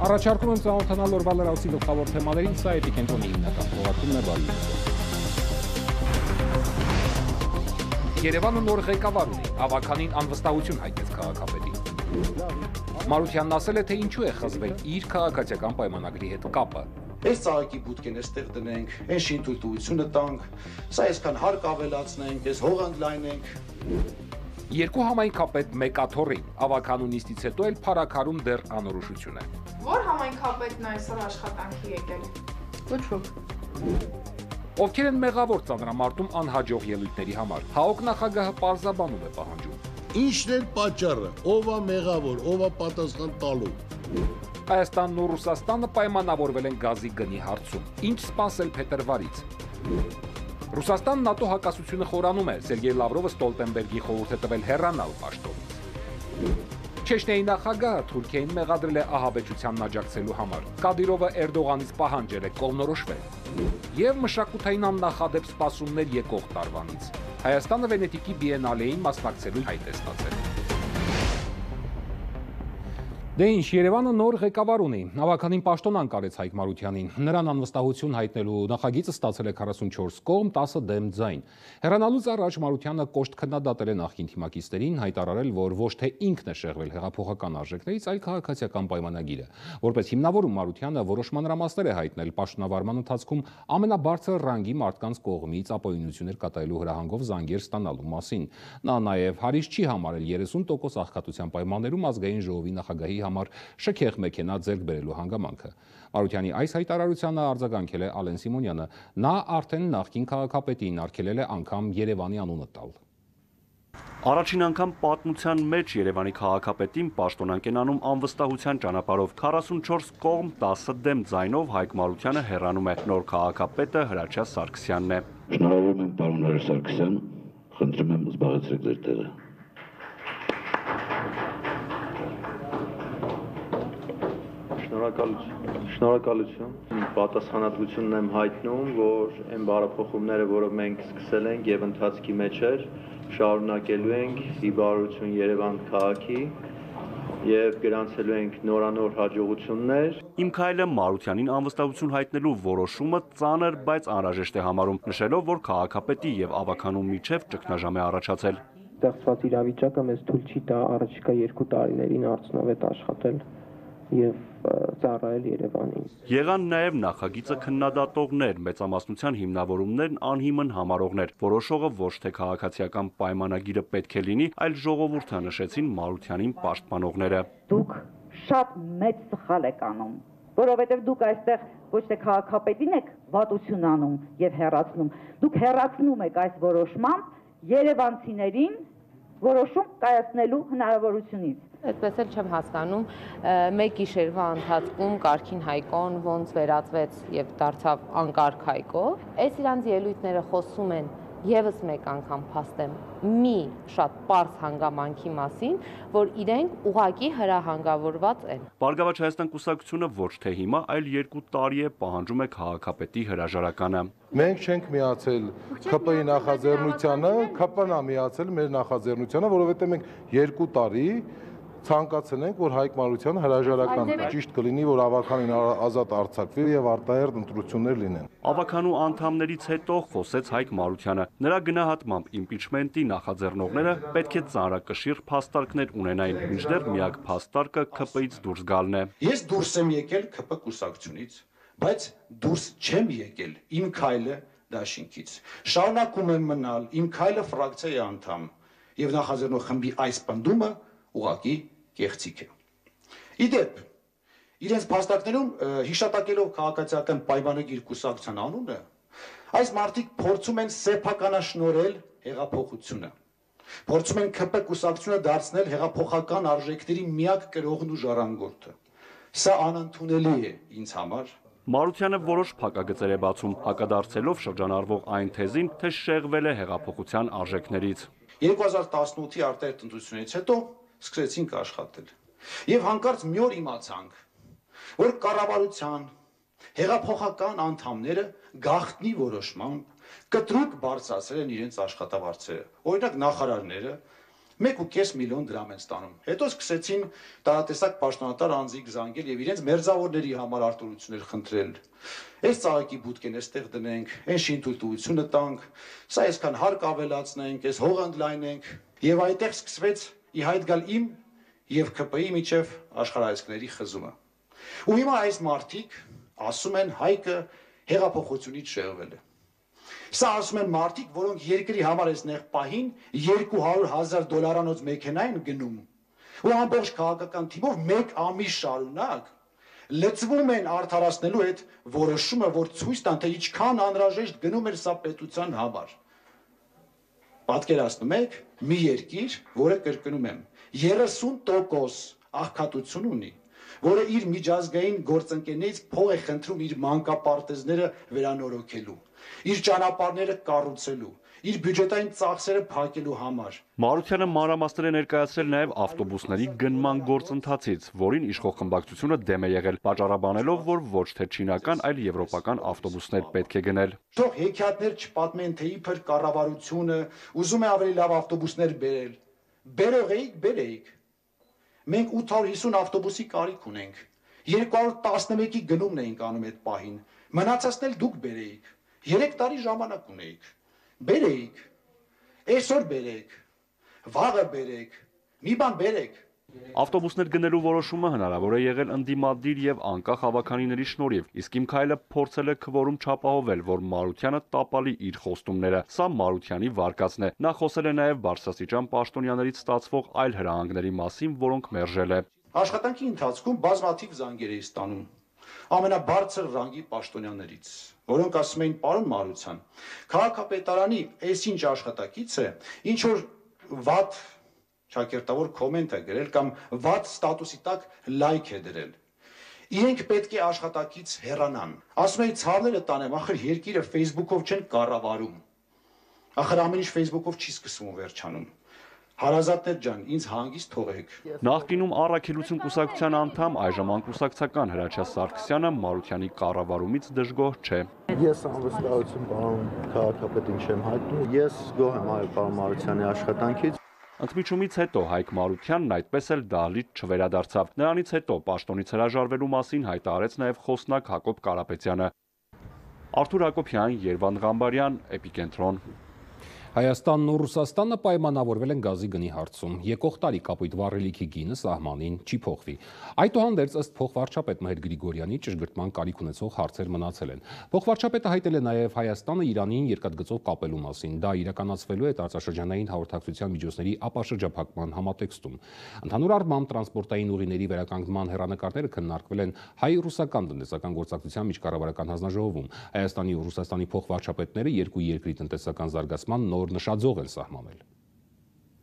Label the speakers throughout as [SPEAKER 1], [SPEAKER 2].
[SPEAKER 1] Առաջարկում եմ ծանոթանալ օրվա լրացուցի գլխավոր թեմաներին, սա Էպիկենտրոնի հիմնական թողարկումն է, բարի Երևանը նոր ղեկավար ունի, ավականին անվստահություն հայտնեց քաղաքապետին։ Մարությանն ասել է, թե ինչու է խզվել իր քաղաքացիական պայմանագրի հետ կապը։
[SPEAKER 2] Այս ծաղիկի բուտկեն էստեղ դնենք, այս շինթույլտվությունը տանք, սա այսքան հարկ ավելացնենք, այս հող ընդլայնենք։
[SPEAKER 1] Երկու համայնքապետ մեկ աթոռին, ավականունիստից հետո էլ փարաքարում դեռ անորոշություն է։
[SPEAKER 3] Որ համայնքապետն այսօր աշխատանքի եկել։ Ոչ ոք։
[SPEAKER 1] Ովքեր են մեղավոր ծանրամարտում անհաջող ելույթների համար։ ՀԱՕԿ նախագահը պարզաբանում է պահանջում։
[SPEAKER 4] Ինչն է պատճառը, ով է մեղավոր, ով է պատասխան տալու։
[SPEAKER 1] Հայաստանն ու Ռուսաստանը պայմանավորվել են գազի գնի հարցում։ Ինչ սպասել փետրվարից։ Ռուսաստանն ՆԱՏՕ հակասությունը խորանում է, Սերգեյ Լավրովը Ստոլտենբերգի խորհուրդ է տվել հեռանալ պաշտոնից։ Չեչնիայի նախագահը Թուրքիային մեղադրել է ահաբեկչությանն աջակցելու համար։ Կադիրովը Էրդողանից պահանջել է կողմնորոշվել։ Եվ մշակութային աննախադեպ սպասումներ եկող տարվանից։ Հայաստանը Վենետիկի բիենալեին մասնակցելու հայտ է ստացել։ Դե ինչ, Երևանը նոր ղեկավար ունի, ավականին պաշտոն անկարեց Հայկ Մարությանին, նրան անվստահություն հայտնելու նախագիծը ստացել է 44 կողմ, 10 դեմ ձայն։ Հեռանալուց առաջ Մարությանը կոշտ քննադատել է նախկին թիմակիցներին, հայտարարել, որ ոչ թե ինքն է շեղվել հեղափոխական արժեքներից, այլ քաղաքացիական պայմանագիրը։ Որպես հիմնավորում Մարությանը որոշ մանրամասներ է հայտնել պաշտոնավարման ընթացքում ամենաբարձր ռանգի մարդկանց կողմից ապօրինություններ կատարելու հրահանգով զանգեր ստանալու մասին։ Նա նաև հարիշ չի համարել 30% աղքատության պայմաններում ազգային ժողովի նախագահի համար շքեղ մեքենա ձեռք բերելու հանգամանքը։ Մարությանի այս հայտարարությանը արձագանքել է Ալեն Սիմոնյանը։ Նա արդեն նախկին քաղաքապետին արգելել է անգամ Երևանի անունը տալ։
[SPEAKER 5] Առաջին անգամ պատմության մեջ Երևանի քաղաքապետին պաշտոնանկ են անում անվստահության ճանապարհով 44 կողմ 10 դեմ ձայնով Հայկ Մարությանը հեռանում է, նոր քաղաքապետը Հրաչյա Սարգսյանն է։
[SPEAKER 6] Շնորհավորում եմ պարոն Հրաչյա Սարգսյան, խնդրում եմ զբաղեցրեք ձեր տեղը։
[SPEAKER 7] Շնորհակալություն։ Պատասխանատվությունն եմ հայտնում, որ այն բարեփոխումները, որը մենք սկսել ենք եւ ընթացքի մեջ էր, շարունակելու ենք ի բարօրություն Երևան քաղաքի եւ գրանցելու ենք նորանոր հաջողություններ։
[SPEAKER 5] Իմ քայլը Մարությանին անվստահություն հայտնելու որոշումը ծանր, բայց անհրաժեշտ է համարում, նշելով, որ քաղաքապետի եւ ավականու միջև ճգնաժամ է առաջացել։
[SPEAKER 8] Ստեղծված իրավիճակը մեզ թույլ չի տա առաջիկա 2 տարիներին արդյունավետ աշխատել եւ ծառայել Երևանին։
[SPEAKER 5] Եղան նաև նախագիծը քննադատողներ, մեծամասնության հիմնավորումներն անհիմն համարողներ, որոշողը ոչ թե քաղաքացիական պայմանագիրը պետք է լինի, այլ ժողովուրդը, նշեցին Մարությանին պաշտպանողները։
[SPEAKER 9] Դուք շատ մեծ սխալ եք անում, որովհետև դուք այստեղ ոչ թե քաղաքապետին եք վատություն անում եւ հեռացնում, դուք հեռացնում եք այս որոշմամբ երևանցիներին որոշում կայացնելու հնարավորությունից։
[SPEAKER 10] Այդպես էլ չեմ հասկանում, մեկ գիշերվա ընթացքում Կարքին Հայկոն ոնց վերածվեց եւ դարձավ անկարգ Հայկո։ Այս իրանց ելույթները խոսում են եւս մեկ անգամ փաստեմ մի շատ պարզ հանգամանքի մասին, որ իրենք ուղակի հրահանգավորված են։
[SPEAKER 5] Բարգավաճ Հայաստան կուսակցությունը ոչ թե հիմա, այլ 2 տարի է պահանջում է քաղաքապետի հրաժարականը։
[SPEAKER 11] Մենք չենք միացել ՔՊ-ի նախաձեռնությանը, ՔՊ-ն է միացել մեր նախաձեռնությանը, որովհետեւ մենք 2 տարի ցանկացել ենք, որ Հայկ Մարությանը հրաժարական ճիշտ կլինի, որ ավականին ազատ արձակվի եւ արտահերթ ընտրություններ լինեն։
[SPEAKER 5] Ավականու անդամներից հետո խոսեց Հայկ Մարությանը։ Նրա գնահատմամբ իմպիչմենտի նախաձեռնողները պետք է ծանրակշիռ փաստարկներ ունենային, մինչդեռ միակ փաստարկը ՔՊ-ից դուրս գալն է։
[SPEAKER 2] Ես դուրս եմ եկել ՔՊ կուսակցությունից, բայց դուրս չեմ եկել իմ քայլը դաշինքից։ Շարունակում եմ մնալ իմ քայլը ֆրակցիայի անդամ եւ նախաձեռնող խմբի այս պնդումը ուղղակի կեղծիք է։ Իդեպ, իրենց փաստարկներում հիշատակելով քաղաքացիական պայմանագիր կուսակցության անունը, այս մարդիկ փորձում են սեփականաշնորհել հեղափոխությունը։ Փորձում են ՔՊ կուսակցությունը դարձնել հեղափոխական արժեքների միակ կրողն ու ժառանգորդը։ Սա անընդունելի է ինձ համար։
[SPEAKER 5] Մարությանը որոշ փակագծեր է բացում, հակադարձելով շրջանառվող այն թեզին, թե շեղվել է հեղափոխության արժեքներից։
[SPEAKER 2] 2018-ի արտահերթ ընտրությունից հետո սկսեցինք աշխատել։ Եվ հանկարծ մի օր իմացանք, որ կառավարության հեղափոխական անդամները գաղտնի որոշմամբ կտրուկ բարձրացրել են իրենց աշխատավարձերը։ Օրինակ նախարարները 1.5 միլիոն դրամ են ստանում։ Հետո սկսեցին տարատեսակ պաշտոնատար անձիկ զանգել եւ իրենց մերձավորների համար արտոնություններ խնդրել։ Այս ծաղիկի բուտկեն էստեղ դնենք, այն շինթույլտվությունը տանք, սա այսքան հարկ ավելացնենք, այս հողը ընդլայնենք եւ այդտեղ սկսվեց ի հայտ գալ իմ եւ ԿՊ-ի միջև աշխարհայացքների խզումը։ Ու հիմա այս մարդիկ ասում են Հայկը հեղափոխությունից շեղվել է։ Սա ասում են մարդիկ, որոնք երկրի համար այս նեղ պահին $200,000 մեքենա են գնում ու ամբողջ քաղաքական թիմով մեկ ամիս շարունակ լծվում են արդարացնելու այդ որոշումը, որ ցույց տան, թե ինչքան անհրաժեշտ գնում էր սա պետության համար։ Պատկերացնում եք, մի երկիր, որը կրկնում եմ, 30% աղքատություն ունի, որը իր միջազգային գործընկերներից փող է խնդրում իր մանկապարտեզները վերանորոգելու, իր ճանապարհները կառուցելու, իր բյուջետային ծախսերը փակելու համար։
[SPEAKER 5] Մարությանը մանրամասներ է ներկայացրել նաև ավտոբուսների գնման գործընթացից, որին իշխող խմբակցությունը դեմ է եղել, պատճառաբանելով, որ ոչ թե չինական, այլ եվրոպական ավտոբուսներ պետք է գնել։
[SPEAKER 2] Թող հեքիաթներ չպատմեն, թե իբր կառավարությունը ուզում է ավելի լավ ավտոբուսներ բերել։ Բերող էիք, բերեիք։ Մենք 850 ավտոբուսի կարիք ունենք։ 211-ի գնումն էինք անում այդ պահին։ Մնացածն էլ դուք բերեիք։ 3 տարի ժամանակ ունեիք։ Բերեիք։ Այսօր բերեք։ Վաղը բերեք։ Մի բան բերեք։
[SPEAKER 5] Ավտոբուսներ գնելու որոշումը հնարավոր է եղել ընդդիմադիր եւ անկախ հավաքանիների շնորհիվ, իսկ Իմ Քայլը փորձել է քվորում չապահովել, որ Մարությանը տապալի իր խոստումները։ Սա Մարությանի վարկածն է։ Նա խոսել է նաեւ բարձրաստիճան պաշտոնյաներից ստացվող այլ հրահանգների մասին, որոնք մերժել է։
[SPEAKER 2] Աշխատանքի ընթացքում բազմաթիվ զանգեր էի ստանում ամենաբարձր ռանգի պաշտոնյաներից, որոնք ասում էին պարոն Մարության, քաղաքապետարանի այսինչ աշխատակից է, ինչ որ վատ ճակերտավոր կոմենտ է գրել կամ վատ ստատուսի տակ լայք է դրել։ Իրենք պետք է աշխատակից հեռանան։ Ասում էի ցավները տանեմ, ախր երկիրը Facebook-ով չեն կառավարում։ Ախր ամեն ինչ Facebook-ով չի սկսվում ու վերջանում։ Հարազատներ ջան, ինձ հանգիստ թողեք։
[SPEAKER 5] Նախկինում Առաքելություն կուսակցության անդամ, այժմ անկուսակցական Հրաչյա Սարգսյանը Մարությանի կառավարումից դժգոհ չէ։
[SPEAKER 7] Ես անվստահություն պարոն քաղաքապետին չեմ հայտնում։ Ես գոհ եմ այո պարոն Մարությանի աշխատանքից։
[SPEAKER 5] Ընդմիջումից հետո Հայկ Մարությանն այդպես էլ դահլիճ չվերադարձավ։ Նրանից հետո պաշտոնից հրաժարվելու մասին հայտարարեց նաև խոսնակ Հակոբ Կարապետյանը։ Արթուր Հակոբյան, Երվանդ Ղամբարյան, Էպիկենտրոն։
[SPEAKER 1] Հայաստանն ու Ռուսաստանը պայմանավորվել են գազի գնի հարցում։ Եկող տարի կապույտ վառելիքի գինը սահմանին չի փոխվի։ Այդուհանդերձ ըստ փոխվարչապետ Մհեր Գրիգորյանի ճշգրտման կարիք ունեցող հարցեր մնացել են։ Փոխվարչապետը հայտել է նաև Հայաստանը Իրանին երկաթգծով կապելու մասին։ Դա իրականացվելու է տարածաշրջանային հաղորդակցության միջոցների ապաշրջափակման համատեքստում։ Ընդհանուր առմամբ տրանսպորտային ուղիների վերականգնման հեռանկարները քննարկվել են հայ-ռուսական տնտեսական գործակցության միջկառավարական հանձնաժողովում։ Հայաստանի ու Ռուսաստանի փոխվարչապետները երկու երկրի տնտեսական զարգացման նոր նշաձող են սահմանել։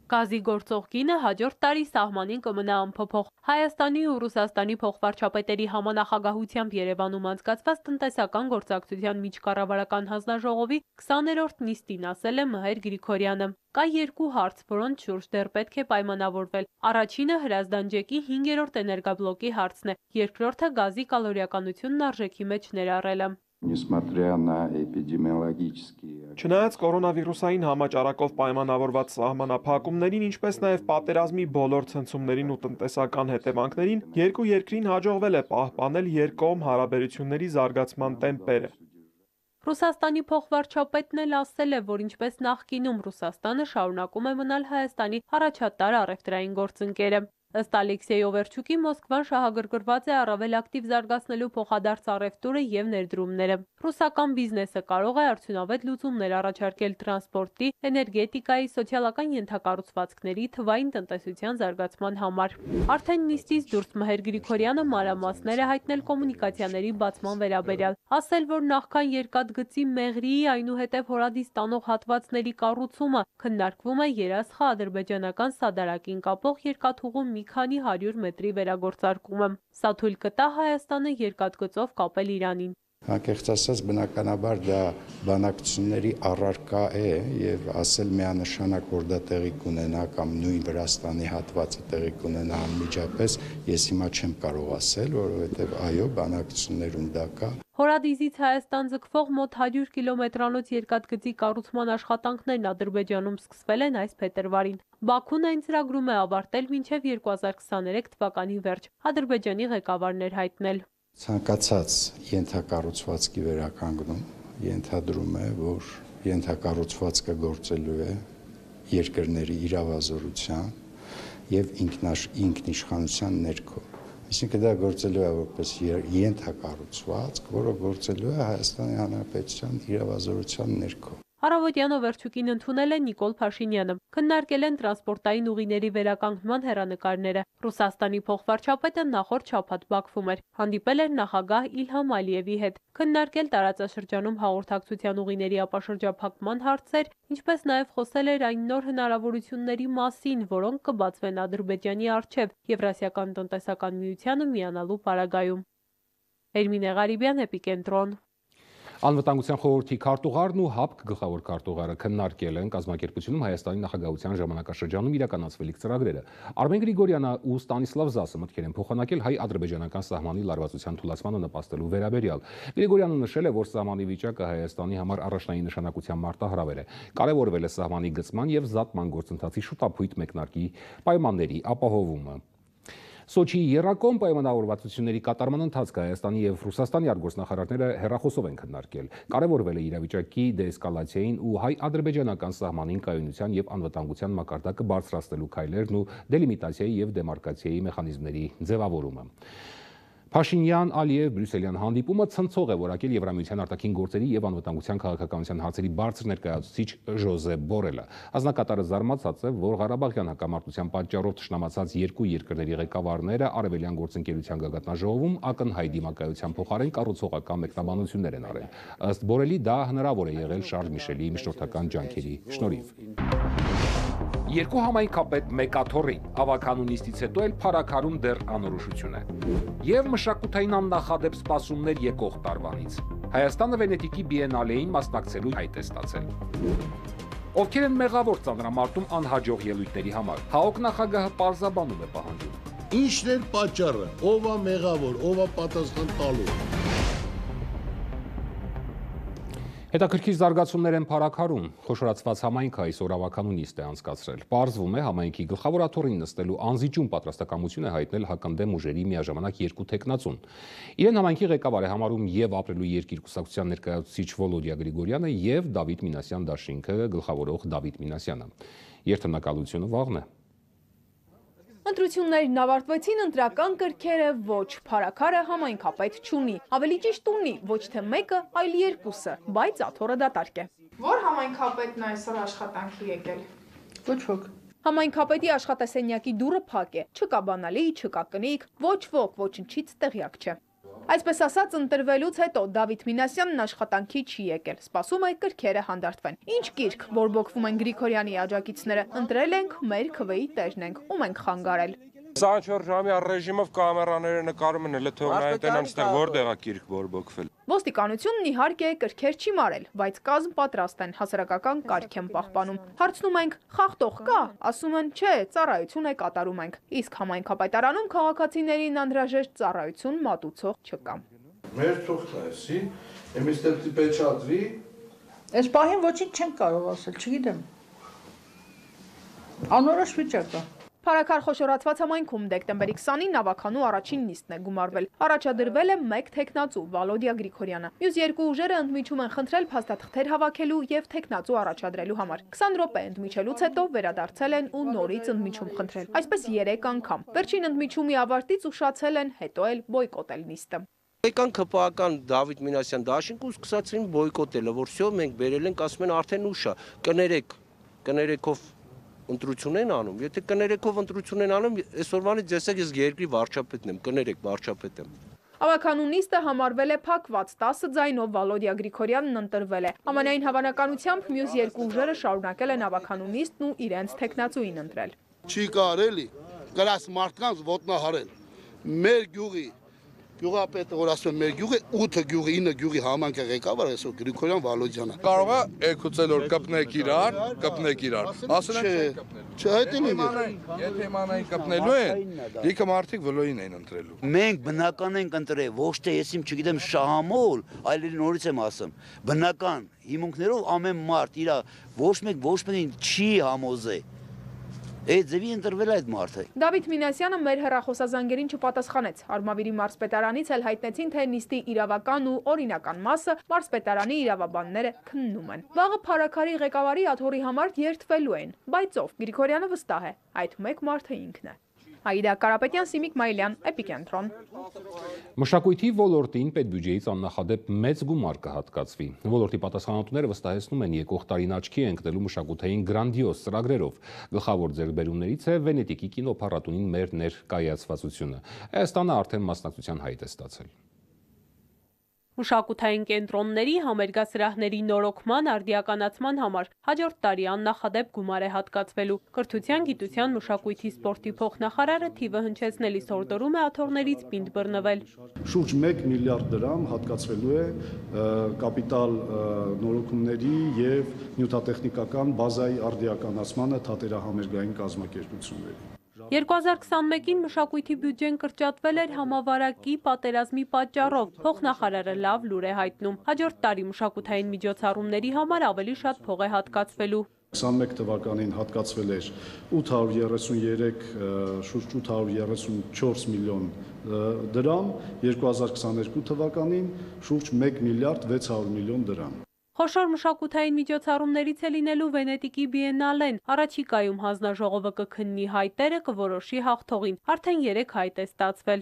[SPEAKER 12] Գազի գործող գինը հաջորդ տարի սահմանին կմնա անփոփոխ։ Հայաստանի ու Ռուսաստանի փոխվարչապետերի համանախագահությամբ Երևանում անցկացված տնտեսական գործակցության միջկառավարական հանձնաժողովի 20-րդ նիստին ասել է Մհեր Գրիգորյանը։ Կա երկու հարց, որոնց շուրջ դեռ պետք է պայմանավորվել։ Առաջինը Հրազդան ջեկի 5-րդ էներգաբլոկի հարցն է, երկրորդը գազի կալորիականությունն արժեքի մեջ ներառելը։
[SPEAKER 8] Չնայած կորոնավիրուսային համաճարակով պայմանավորված սահմանափակումներին, ինչպես նաև պատերազմի բոլոր ցնցումներին ու տնտեսական հետևանքներին, երկու երկրին հաջողվել է պահպանել երկկողմ հարաբերությունների զարգացման տեմպերը։
[SPEAKER 12] Ռուսաստանի փոխվարչապետն էլ ասել է, որ ինչպես նախկինում Ռուսաստանը շարունակում է մնալ Հայաստանի առաջատար առևտրային գործընկերը։ Ըստ Ալեքսեյ Օվերչուկի Մոսկվան շահագրգռված է առավել ակտիվ զարգացնելու փոխադարձ առևտուրը եւ ներդրումները։ Ռուսական բիզնեսը կարող է արդյունավետ լուծումներ առաջարկել տրանսպորտի, էներգետիկայի, սոցիալական ենթակառուցվածքների, թվային տնտեսության զարգացման համար։ Արդեն նիստից դուրս Մհեր Գրիգորյանը մանրամասներ է հայտնել կոմունիկացիաների բացման վերաբերյալ, ասել, որ նախքան երկաթգծի Մեղրիի այնուհետև հորադիս տանող հատվածների կառուցումը քննարկվում է երասխա-ադրբեջանական սադարակին կապող երկաթուղու մի քանի 100 մետրի վերագործարկումը։ Սա թույլ կտա Հայաստանը երկաթգծով կապել Իրանին։
[SPEAKER 13] Անկեղծ ասած, բնականաբար դա բանակցությունների առարկա է եւ ասել միանշանակ, որ դա տեղի կունենա կամ նույն Վրաստանի հատվածը տեղի կունենա անմիջապես, ես հիմա չեմ կարող ասել, որովհետեւ այո, բանակցություններում դա կա։
[SPEAKER 12] Հորադիզից Հայաստան ձգվող մոտ 100 կիլոմետրանոց երկաթգծի կառուցման աշխատանքներն Ադրբեջանում սկսվել են այս փետրվարին։ Բաքուն այն ծրագրում է ավարտել մինչև 2023 թվականի վերջ, Ադրբեջանի ղեկավարն էր հայտնել։
[SPEAKER 13] Ցանկացած ենթակառուցվածքի վերականգնում ենթադրում է, որ ենթակառուցվածքը գործելու է երկրների իրավազորության եւ ինքնիշխանության ներքո։ Այսինքն դա գործելու է որպես ենթակառուցվածք, որը գործելու է Հայաստանի Հանրապետության իրավազորության ներքո։
[SPEAKER 12] Առավոտյան Օվերչուկին ընդունել է Նիկոլ Փաշինյանը, քննարկել են տրանսպորտային ուղիների վերականգնման հեռանկարները։ Ռուսաստանի փոխվարչապետը նախորդ շաբաթ Բաքվում էր, հանդիպել էր նախագահ Իլհամ Ալիևի հետ, քննարկել տարածաշրջանում հաղորդակցության ուղիների ապաշրջափակման հարցեր, ինչպես նաև խոսել էր այն նոր հնարավորությունների մասին, որոնք կբացվեն Ադրբեջանի առջև Եվրասիական տնտեսական միությանը միանալու պարագայում։ Էրմինե Ղարիբյան, Էպիկենտրոն։
[SPEAKER 1] Անվտանգության խորհրդի քարտուղարն ու ՀԱՊԿ գլխավոր քարտուղարը քննարկել են կազմակերպությունում Հայաստանի նախագահության ժամանակաշրջանում իրականացվելիք ծրագրերը։ Արմեն Գրիգորյանը ու Ստանիսլավ Զասը մտքեր են փոխանակել հայ-ադրբեջանական սահմանի լարվածության թուլացմանը նպաստելու վերաբերյալ։ Գրիգորյանը նշել է, որ սահմանի վիճակը Հայաստանի համար առաջնային նշանակության մարտահրավեր է։ Կարևորվել է սահմանի գծման եւ զատման գործընթացի շուտափույթ մեկնարկի պայմանների ապահովումը։ Սոչիի եռակողմ պայմանավորվածությունների կատարման ընթացքը Հայաստանի եւ Ռուսաստանի արտգործնախարարները հեռախոսով են քննարկել։ Կարևորվել է իրավիճակի դեէսկալացիային ու հայ-ադրբեջանական սահմանին կայունության եւ անվտանգության մակարդակը բարձրացնելու քայլերն ու դելիմիտացիայի եւ դեմարկացիայի մեխանիզմների ձևավորումը։ Փաշինյան-Ալիև բրյուսելյան հանդիպումը ցնցող է որակել Եվրամիության արտաքին գործերի եւ անվտանգության քաղաքականության հարցերի բարձր ներկայացուցիչ Ժոզեփ Բորելը։ Ազնագատարը զարմացած է, որ Ղարաբաղյան հակամարտության պատճառով թշնամացած երկու երկրների ղեկավարները արևելյան գործընկերության գագաթնաժողովում ակնհայտ դիմակայության փոխարեն կառուցողական մեկնաբանություններ են արել։ Ըստ Բորելի դա հնարավոր է եղել Շարլ Միշելի միջնորդական ջանքերի շնորհիվ։ Երկու համայնքապետ մեկ աթոռի ավականու նիստից հետո էլ փարաքարում դեռ անորոշություն է։ Եվ մշակութային աննախադեպ սպասումներ եկող տարվանից։ Հայաստանը Վենետիկի բիենալեին մասնակցելու հայտ է ստացել։ Ովքեր են մեղավոր ծանրամարտում անհաջող ելույթների համար։ ՀԱՕԿ նախագահը պարզաբանում է պահանջում։
[SPEAKER 4] Ինչն էր պատճառը, ով է մեղավոր, ով է պատասխան տալու։
[SPEAKER 1] Հետաքրքիր զարգացումներ են փարաքարում։ Խոշորացված համայնքը այսօր ավականու նիստ է անցկացրել։ Պարզվում է համայնքի գլխավոր աթոռին նստելու անզիջում պատրաստակամություն է հայտնել հականդեմ ուժերի միաժամանակ երկու տեխնացուն։ Իրեն համայնքի ղեկավար է համարում եւ ապրելու երկիր կուսակցության ներկայացուցիչ Վոլոդիա Գրիգորյանը եւ Դավիթ Մինասյան դաշինքը գլխավորող Դավիթ Մինասյանը։ Երթնակալությունը վաղն է։
[SPEAKER 14] Ընտրություններն ավարտվեցին, ընտրական կրքերը ոչ, փարաքարը համայնքապետ չունի, ավելի ճիշտ ունի, ոչ թե մեկը, այլ երկուսը, բայց աթոռը դատարկ է։
[SPEAKER 3] Որ համայնքապետն այսօր աշխատանքի եկել։
[SPEAKER 14] Ոչ ոք։ Համայնքապետի աշխատասենյակի դուռը փակ է, չկա բանալի, չկա կնիկ, ոչ ոք ոչնչից տեղյակ չէ։ Այսպես ասած, ընտրվելուց հետո Դավիթ Մինասյանն աշխատանքի չի եկել, սպասում է կրքերը հանդարտվեն։ Ինչ գիրք բորբոքվում են Գրիգորյանի աջակիցները, ընտրել ենք, մեր քվեի տերն ենք, ում ենք խանգարել։
[SPEAKER 15] 24 ժամի ռեժիմով կամերաները նկարում են, հələ թող նայեն տենան ստեղ որտեղ է գիրք բորբոքվել։
[SPEAKER 14] Ոստիկանությունն իհարկե կրքեր չի մարել, բայց կազմ պատրաստ են, հասարակական կարգ են պահպանում։ Հարցնում ենք, խախտող կա, ասում են, չէ, ծառայություն է կատարում ենք։ Իսկ համայնքապետարանում քաղաքացիներին անհրաժեշտ ծառայություն մատուցող չկա։
[SPEAKER 11] Մեր թողն է, էսի, եմիստեպտի պեչադրի։
[SPEAKER 16] Այս պահին ոչինչ չեն կարող ասել, չգիտեմ։ Անորոշ վիճակ է։
[SPEAKER 14] Փարաքար խոշորացված համայնքում դեկտեմբերի 20-ին ավականու առաջին նիստն է գումարվել։ Առաջադրվել է մեկ տեխնացու Վալոդիա Գրիգորյանը։ Մյուս երկու ուժերը ընդմիջում են խնդրել փաստաթղթեր հավաքելու եւ տեխնացու առաջադրելու համար։ 20 րոպե ընդմիջելուց հետո վերադարձել են ու նորից ընդմիջում խնդրել։ Այսպես 3 անգամ։ Վերջին ընդմիջումի ավարտից ուշացել են, հետո էլ բոյկոտել նիստը։
[SPEAKER 17] Եկան ԿՊԱ-ական Դավիթ Մինասյան դաշինք ու սկսեցին բոյկոտելը, որ всё մենք բերել ենք, ասում են արդեն ուշ է, կներեկով ընտրություն են անում, եթե կներեկով ընտրություն են անում, այսօրվանից եսեք ես երկրի վարչապետն եմ, կներեք վարչապետ եմ։
[SPEAKER 14] Ավականու նիստը համարվել է փակված, 10 ձայնով Վալոդիա Գրիգորյանն ընտրվել է։ Ամենայն հավանականությամբ մյուս երկու ուժերը շարունակել են ավականու նիստն ու իրենց տեխնացուին ընտրել։
[SPEAKER 4] Չի կարելի գրած մարդկանց ոտնահարել։ Մեր գյուղի
[SPEAKER 18] Գյուղապետը, որ ասում եմ, մեր գյուղը 8 գյուղի, 9 գյուղի համանքը ղեկավար այսօր Գրիգորյան Վալոդյանը։
[SPEAKER 11] Կարող է եկուցել որ կպնեք իրար, ասել են
[SPEAKER 18] չէ, այդ էլ է։
[SPEAKER 11] Եթե իմանային կպնելու են, լիքը մարդիկ վլոյին էին ընտրելու։
[SPEAKER 19] Մենք բնական ենք ընտրել, ոչ թե ես իմ չգիտեմ շահամոլ, այլ նորից եմ ասում, բնական հիմունքներով ամեն մարդ իր ոչ մեկին չի համոզե։ Այդ ձևի ընտրվել այդ մարդը։
[SPEAKER 14] Դավիթ Մինասյանը մեր հեռախոսազանգերին չպատասխանեց։ Արմավիրի մարզպետարանից էլ հայտնեցին, թե նիստի իրավական ու օրինական մասը մարզպետարանի իրավաբանները քննում են։ Վաղը Փարաքարի ղեկավարի աթոռի համար երթվելու են, բայց ով Գրիգորյանը վստահ է, այդ մեկ մարդը ինքն է։ Աիդա Կարապետյան, Սիմիկ Մայլյան, Էպիկենտրոն։
[SPEAKER 1] Մշակույթի ոլորտին պետբյուջեից աննախադեպ մեծ գումար կհատկացվի։ Ոլորտի պատասխանատուները վստահեցնում են եկող տարին աչքի է ընկնելու մշակութային գրանդիոզ ծրագրերով։ Գլխավոր ձեռքբերումներից է Վենետիկի կինոփառատոնին մեր ներկայացվածությունը։ Հայաստանը արդեն մասնակցության հայտ է ստացել։
[SPEAKER 12] Մշակութային կենտրոնների համերգասրահների նորոգման արդիականացման համար հաջորդ տարի աննախադեպ գումար է հատկացվելու։ Կրթության, գիտության, մշակույթի, սպորտի փոխնախարարը թիվը հնչեցնելիս հորդորում է աթոռներից պինդ բռնվել։
[SPEAKER 20] Շուրջ 1 միլիարդ դրամ հատկացվելու է կապիտալ նորոգումների և նյութատեխնիկական բազայի արդիականացմանը թատերահամերգային կազմակերպությունների։
[SPEAKER 12] 2021-ին մշակույթի բյուջեն կրճատվել էր համավարակի պատերազմի պատճառով, փոխնախարարը լավ լուր է հայտնում։ Հաջորդ տարի մշակութային միջոցառումների համար ավելի շատ փող է հատկացվելու։
[SPEAKER 20] 21 թվականին հատկացվել էր շուրջ 834 միլիոն դրամ, 2022 թվականին շուրջ 1 միլիարդ 600 միլիոն դրամ։
[SPEAKER 12] Խոշոր մշակութային միջոցառումներից է լինելու Վենետիկի բիենալեն։ Առաջիկայում հանձնաժողովը կքննի հայտերը, կորոշի հաղթողին։ Արդեն 3 հայտ է ստացվել։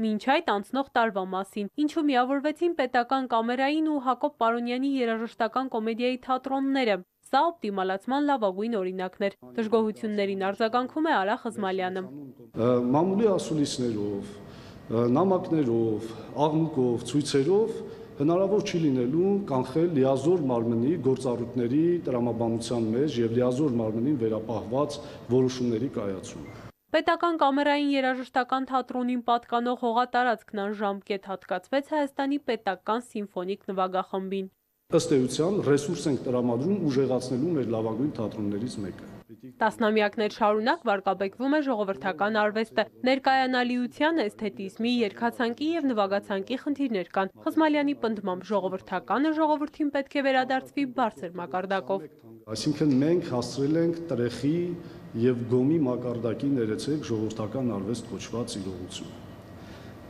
[SPEAKER 12] Մինչ այդ անցնող տարվա մասին, ինչու միավորվեցին պետական կամերային ու Հակոբ Պարոնյանի երաժշտական կոմեդիայի թատրոնները։ Սա օպտիմալացման լավագույն օրինակներ։ Դժգոհություններին արձագանքում է Արա Խզմալյանը։
[SPEAKER 20] Մամուլի ասուլիսներով, նամակներով, աղմուկով, ցույցերով հնարավոր չի լինելու կանխել լիազոր մարմնի գործառույթների տրամաբանության մեջ և լիազոր մարմնին վերապահված որոշումների կայացումը։
[SPEAKER 12] Պետական կամերային երաժշտական թատրոնին պատկանող հողատարածքն անժամկետ հատկացվեց Հայաստանի պետական սիմֆոնիկ նվագախմբին։
[SPEAKER 20] Ըստ էության ռեսուրս ենք տրամադրում ուժեղացնելու մեր լավագույն թատրոններից մեկը։
[SPEAKER 12] Տասնամյակներ շարունակ վարկաբեկվում է ժողովրդական արվեստը։ Ներկայանալիության, էսթետիզմի, երգացանկի և նվագացանկի խնդիրներ կան։ Խզմալյանի պնդմամբ ժողովրդականը ժողովրդին պետք է վերադարձվի բարձր մակարդակով։
[SPEAKER 20] Այսինքն մենք հասցրել ենք տրեխի և գոմի մակարդակի ներեցեք ժողովրդական արվեստ կոչված իրողություն։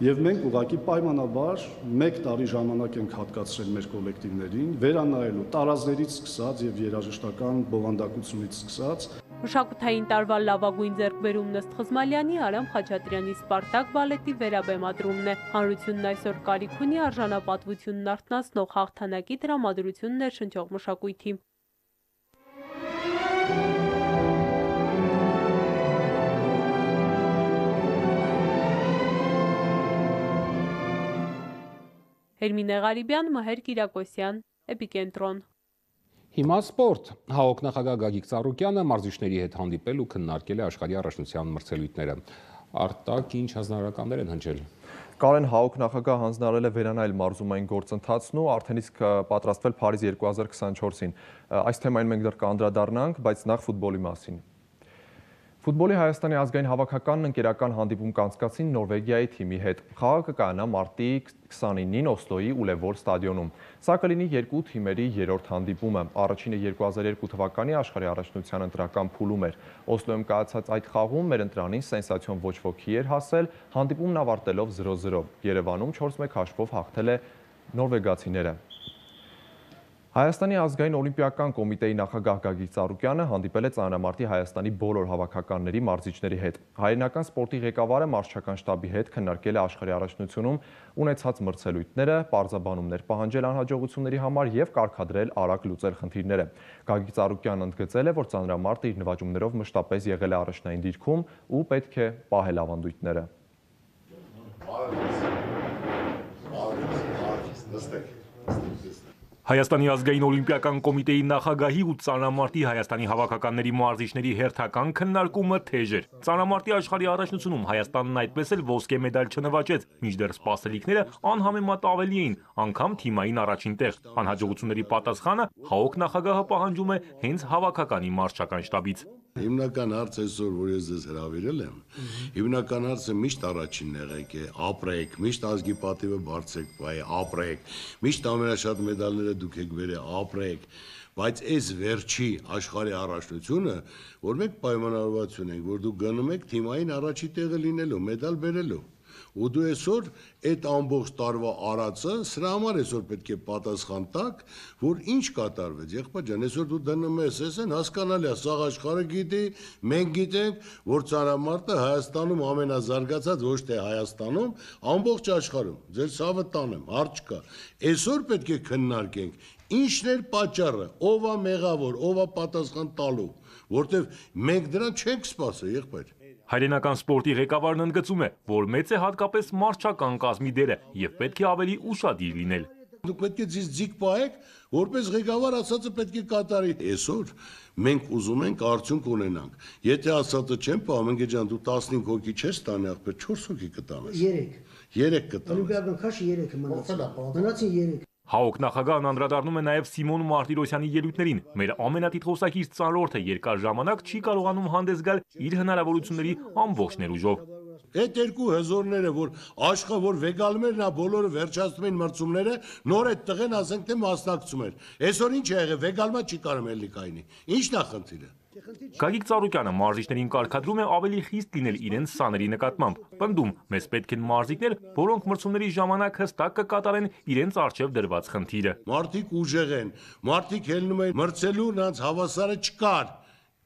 [SPEAKER 20] Եվ մենք ուղղակի պայմանաբար 1 տարի ժամանակ ենք հատկացրել մեր կոլեկտիվներին, վերանայելու տարազներից սկսած և երաժշտական բովանդակությունից սկսած։
[SPEAKER 12] Մշակութային տարվա լավագույն ձեռքբերումն ըստ Խզմալյանի Արամ Խաչատրյանի Սպարտակ բալետի վերաբեմադրումն է։ Հանրությունն այսօր կարիք ունի արժանապատվությունն արթնացնող հաղթանակի տրամադրություն ներշնչող մշակույթի։ Էրմինե Ղարիբյան, Մհեր Կիրակոսյան, Էպիկենտրոն։
[SPEAKER 1] Հիմա սպորտ։ ՀԱՕԿ նախագահ Գագիկ Ծառուկյանը մարզիչների հետ հանդիպել ու քննարկել է աշխարհի առաջնության մրցելույթները։ Արտակ ինչ հանձնարարականներ են հնչել։
[SPEAKER 21] Կարեն, ՀԱՕԿ նախագահ հանձնարարել է վերանայել մարզումային գործընթացն ու արդեն իսկ պատրաստվել Փարիզ 2024-ին։ Այս թեմային մենք դեռ կանդրադառնանք, բայց նախ ֆուտբոլի մասին։ Ֆուտբոլի Հայաստանի ազգային հավաքականն ընկերական հանդիպում կանցկացին Նորվեգիայի թիմի հետ։ Խաղը կկայանա մարտի 29-ին Օսլոյի Ուլևոր ստադիոնում։ Սա կլինի երկու թիմերի երրորդ հանդիպումը։ Առաջինը 2002 թվականի աշխարհի առաջնության ընտրական փուլում էր։ Օսլոյում կայացած այդ խաղում մեր ընտրանին սենսացիոն ոչ ոքի էր հասել, հանդիպումն ավարտելով 0-0։ Երևանում 4-1 հաշվով հաղթել է նորվեգացիները։ Հայաստանի ազգային օլիմպիական կոմիտեի նախագահ Գագիկ Ծառուկյանը հանդիպել է ծանրամարտի Հայաստանի բոլոր հավաքականների մարզիչների հետ։ Հայրենական սպորտի ղեկավարը մարզչական շտաբի հետ քննարկել է աշխարհի առաջնությունում ունեցած մրցելույթները, պարզաբանումներ պահանջել անհաջողությունների համար և կարգադրել արագ լուծել խնդիրները։ Գագիկ Ծառուկյանն ընդգծել է, որ ծանրամարտը իր նվաճումներով մշտապես եղել է առաջնային դիրքում ու պետք է պահել ավանդույթները։
[SPEAKER 6] Հայաստանի ազգային օլիմպիական կոմիտեի նախագահի ու ծանրամարտի Հայաստանի հավաքականների մարզիչների հերթական քննարկումը թեժ էր։ Ծանրամարտի աշխարհի առաջնությունում Հայաստանն այդպես էլ ոսկե մեդալ չնվաճեց, մինչդեռ սպասելիքները անհամեմատ ավելի էին, անգամ թիմային առաջին տեղ։ Անհաջողությունների պատասխանը ՀԱՕԿ նախագահը պահանջում է հենց հավաքականի մարզչական շտաբից։
[SPEAKER 4] Հիմնական հարցը այսօր, որ ես ձեզ հրավիրել եմ, հիմնական հարցը միշտ առաջինն եղեք է, ապրեք, միշտ ազգի պատիվը բարձրեք, ապրեք, միշտ ամենաշատ մեդալները դուք եք բերել, ապրեք, բայց այս վերջի աշխարհի առաջնությունը, որ մենք պայմանավորված ունենք, որ դուք գնում եք թիմային առաջի տեղը լինելու, մեդալ բերելու։ Ու դու այսօր այդ ամբողջ տարվա արածը, սրա համար այսօր պետք է պատասխան տաք, որ ինչ կատարվեց, եղբայր ջան, այսօր դու դնում ես, այսեն հասկանալի է, սաղ աշխարհը գիտի, մենք գիտենք, որ ծանրամարտը Հայաստանում ամենազարգացած, ոչ թե Հայաստանում, ամբողջ աշխարհում, ձեր ցավը տանեմ, հարց չկա։ Այսօր պետք է քննարկենք, ինչն էր պատճառը, ով է մեղավոր, ով է պատասխան տալու, որտեվ մենք դրան չենք սպասել, եղբայր։
[SPEAKER 6] Հայրենական սպորտի ղեկավարն ընդգծում է, որ մեծ է հատկապես մարզչական կազմի դերը եւ պետք է ավելի ուշադիր լինել։
[SPEAKER 4] Դուք պետք է ձիգ պահեք, որպես ղեկավար ասածը պետք է կատարի։ Այսօր մենք ուզում ենք արդյունք ունենանք։ Եթե ասածը չեն պահում, ընկեր ջան, դու 15 հոգի չես տանի, ախպեր 4 հոգի կտանես։ 3 կտանես։
[SPEAKER 22] Օլիմպիական քաշը 3 մնացին 3։
[SPEAKER 6] ՀԱՕԿ նախագահն անդրադառնում է նաև Սիմոն Մարտիրոսյանի ելույթներին։ Մեր ամենատիտղոսակիր ծանրորդը երկար ժամանակ չի կարողանում հանդես գալ իր հնարավորությունների ամբողջ ներուժով։
[SPEAKER 4] Այդ երկու հզորները, որ աշխարհ, որ վեգալմերն է, բոլորը վերջացնում են մրցումները, նոր այդ տղեն ասենք թե մասնակցում էր։ Այսօր ինչ է եղել, վեգալմա չի կարող էլի կայնի։ Ինչն է խնդիրը։
[SPEAKER 6] Գագիկ Ծառուկյանը մարզիչներին կարգադրում է ավելի խիստ լինել իրենց սաների նկատմամբ։ Պնդում, մեզ պետք են մարզիկներ, որոնք մրցումների ժամանակ հստակ կկատարեն իրենց առջև դրված խնդիրը։
[SPEAKER 4] Մարդիկ ուժեղ են, մարդիկ ելնում են մրցելու, նրանց հավասարը չկար։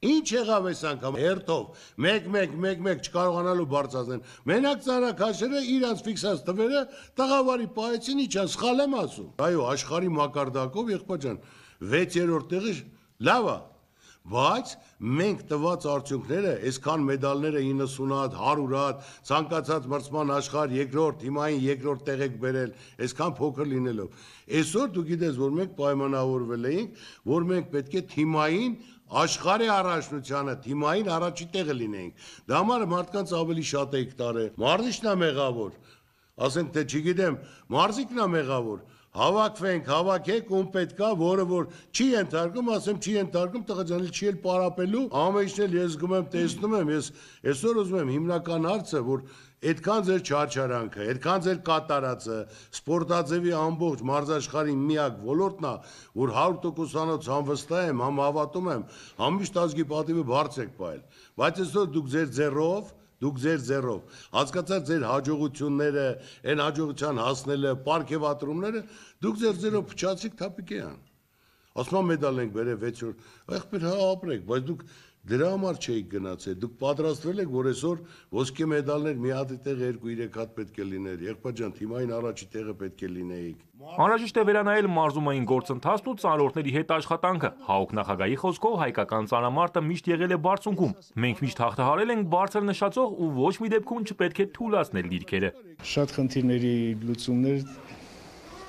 [SPEAKER 4] Ինչ եղավ այս անգամ հերթով, մեկ չկարողանալու բարձրացնել։ Մենակ ծառաքաշերը իրանց ֆիքսած թվերը տղավարի պահեցին, իջան, սխալ եմ ասում։ Այո, աշխարհի մակարդակով եղբայր ջան, 6-րդ տեղը լավ է, բայց մենք տված արդյունքները, այսքան մեդալները 90 հատ, 100 հատ, ցանկացած մրցման աշխարհ երկրորդ, թիմային երկրորդ տեղ եք բերել, այսքան փոքր լինելով։ Այսօր դու գիտես, որ մենք պայմանավորվել էինք, որ մենք պետք է թիմային աշխարհի առաջնությանը, թիմային առաջի տեղը լինենք։ Դա համար մարդկանց ավելի շատ եք տարել։ Մարզիչն է մեղավոր։ Ասենք թե չգիտեմ, մարզիկն է մեղավոր։ Հավաքվենք, հավաքեք, ում պետքա, որը որ չի ենթարկում, ասեմ չի ենթարկում, տղա ջան, չի էլ պարապելու, ամենից էլ ես գում եմ, տեսնում եմ, ես այսօր ուզում եմ հիմնական հարցը, որ այդքան ձեր չարչարանքը, այդքան ձեր կատարածը, սպորտաձևի ամբողջ մարզաշխարհի միակ ոլորտն է, որ 100%-անոց անվստահ եմ, համ հավատում եմ, համիշտ ազգի պատիվը բարձր եք պահել, բայց այսօր դուք ձեր ձեռով, հասկացած ձեր հաջողությունները, այն հաջողության հասնելը, պարգևատրումները, դուք ձեր ձեռով փչացիք թափիկեան։ Ասում մեդալ ենք բերել 6-րդ, ախպեր հա ապրեք, բայց դուք դրա համար չէիք գնացել, դուք պատրաստվել եք, որ այսօր ոսկե մեդալներ մի հատի տեղ 2-3 հատ պետք է լիներ, եղբայր ջան, թիմային առաջի տեղը պետք է լինեիք։
[SPEAKER 6] Անհրաժեշտ է վերանայել մարզումային գործընթացն ու ծանրորդների հետ աշխատանքը։ ՀԱՕԿ նախագահի խոսքով հայկական ծանրամարտը միշտ եղել է բարձունքում։ Մենք միշտ հաղթահարել ենք բարձր նշածող ու ոչ մի դեպքում չպետք է թուլացնել դիրքերը։
[SPEAKER 23] Շատ խնդիրների լուծումներ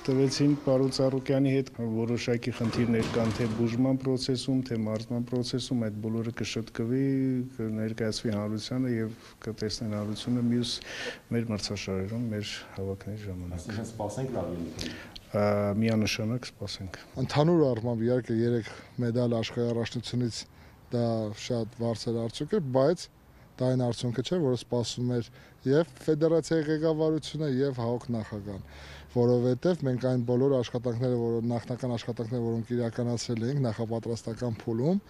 [SPEAKER 23] տվեցին պարոն Ծառուկյանի հետ, որոշակի խնդիրներ կան թե բուժման process-ում, թե մարզման process-ում, այդ բոլորը կշտկվի, կներկայացվի հանրությանը եւ կտեսնեն հանրությունը մյուս մեր մրցաշարերում, մեր հավաքների ժամանակ։
[SPEAKER 21] Այսինքն սպասենք լավ ելույթ։
[SPEAKER 23] Միանշանակ սպասենք։
[SPEAKER 11] Ընդհանուր առմամբ իհարկե 3 մեդալ աշխարհի առաջնությունից դա շատ բարձր արդյունք է, բայց դա այն արդյունքը չէ, որը սպասում էր եւ ֆեդերացիայի ղեկավարությունը եւ ՀԱՕԿ նախագահան, որովհետեւ մենք այն բոլոր աշխատանքները, նախնական աշխատանքները, որոնք իրականացրել էինք նախապատրաստական փուլում,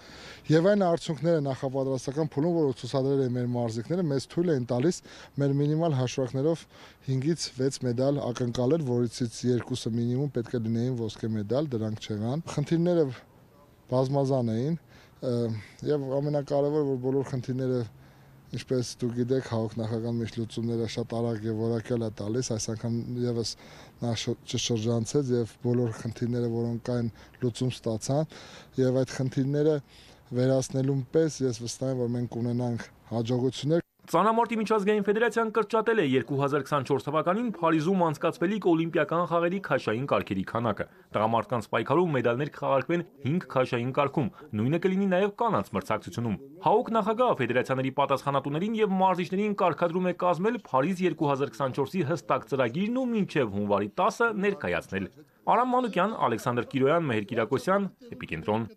[SPEAKER 11] եւ այն արդյունքները նախապատրաստական փուլում, որոնք ցուցադրել են մեր մարզիկները, մեզ թույլ են տալիս մեր մինիմալ հաշվարկներով 5-ից 6 մեդալ ակնկալել, որից 2-ը մինիմում պետք է լինեին ոսկե մեդալ, դրանք չեղան։ Խնդիրները բազմազան էին եւ ամենակարևորը, որ բոլոր խնդիրները Ինչպես դուք գիտեք, ՀԱՕԿ նախագահան մեջ լուծումները շատ արագ եւ որակյալ է տալիս, այս անգամ եւս նա չշրջանցեց եւ բոլոր խնդիրները, որոնք կային, լուծում ստացան եւ այդ խնդիրները վերացնելուն պես ես վստահ եմ, որ մենք ունենանք հաջողություններ։
[SPEAKER 6] Ծանամարտի միջազգային ֆեդերացիան կրճատել է 2024 թվականին Փարիզում անցկացվելիք օլիմպիական խաղերի քաշային կարգերի քանակը։ Տղամարդկանց պայքարում մեդալներ կխաղարկվեն 5 քաշային կարգում, նույնը կլինի նաև կանանց մրցակցությունում։ ՀԱՕԿ նախագահը ֆեդերացիաների պատասխանատուներին եւ մարզիչներին կարգադրում է կազմել Փարիզ 2024-ի հստակ ծրագիրն ու մինչև հունվարի 10-ը ներկայացնել։ Արամ Մանուկյան, Ալեքսանդր Կիրոյան, Մեհեր Կիրակոսյան, Էպիկենտրոն։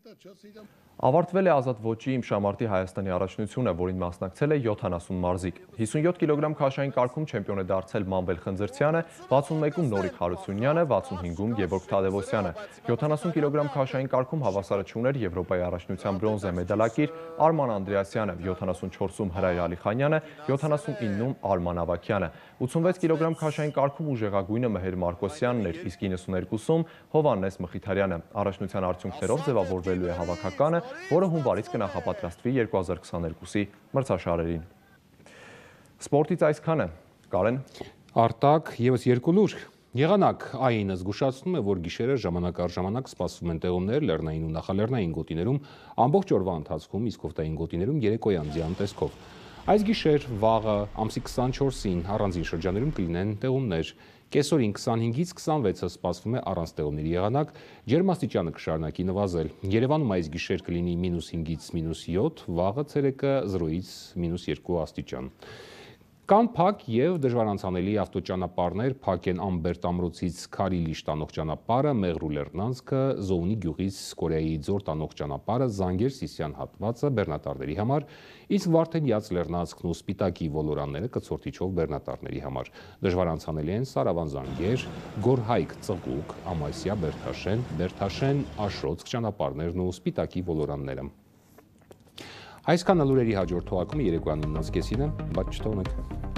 [SPEAKER 21] Ավարտվել է ազատ ոճի իմշամարտի Հայաստանի առաջնությունը, որին մասնակցել է 70 մարզիկ։ 57 կիլոգրամ քաշային կարգում չեմպիոն է դարձել Մանվել Խնձրցյանը, 61-ում Նորիկ Հարությունյանը, 65-ում Գևորգ Թադևոսյանը։ 70 կիլոգրամ քաշային կարգում հավասարը չուներ Եվրոպայի առաջնության բրոնզե մեդալակիր Արման Անդրեասյանը, 74-ում Հրայր Ալիխանյանը, 79-ում Արման Ավագյանը։ 86 կիլոգրամ քաշային կարգում ուժեղագույնը Մեհեր Մարկոսյանն էր, իսկ 92-ում Հովհաննես Մխիթարյանը։ Առաջնության արդյունքներով ձևավորվելու է հավաքականը, որը հունվարից կնախապատրաստվի 2022-ի մրցաշարերին։ Սպորտից այսքանը։ Կարեն։
[SPEAKER 1] Արտակ եւս երկու լուր։ Եղանակ ԱԻՆ-ը զգուշացնում է, որ գիշերը ժամանակ առ ժամանակ սպասվում են տեղումներ լեռնային ու նախալեռնային գոտիներում, ամբողջ օրվա ընթացքում, իսկ օգտային գոտիներում երեկոյան ձյան տեսքով։ Այս գիշեր վաղը ամսի 24-ին առանձին շրջաներում կլինեն տեղումներ։ Կեսօրին 25-ից 26-ը սպասվում է առանց տեղումների եղանակ, ջերմաստիճանը կշարունակի նվազել։ Երևանում այս գիշեր կլինի -5-ից -7, վաղը ցերեկը 0-ից -2 աստիճան։ Կան փակ եւ դժվարանցանելի ավտոճանապարհներ, փակ են Ամբերտ ամրոցից Քարիլիշ տանող ճանապարհը, Մեղրու Լեռնանցքը, Զոունի գյուղից Կորեայի ձոր տանող ճանապարհը, Զանգեր-Սիսիան հատվածը բեռնատարների համար, իսկ Վարդենյաց Լեռնանցքն ու Սպիտակի ոլորանները կցորդիչով բեռնատարների համար։ Դժվարանցանելի են Սարավան-Զանգեր, Գորհայք Ծղուկ, Ամասիա Բերթաշեն, Բերթաշեն-Աշոց ճանապարհներն ու Սպիտակի ոլորանները։ Այսքանը լուրերի հաջորդ թողարկումը երեկոյան 9:30-ին է, բայց չթողնեք։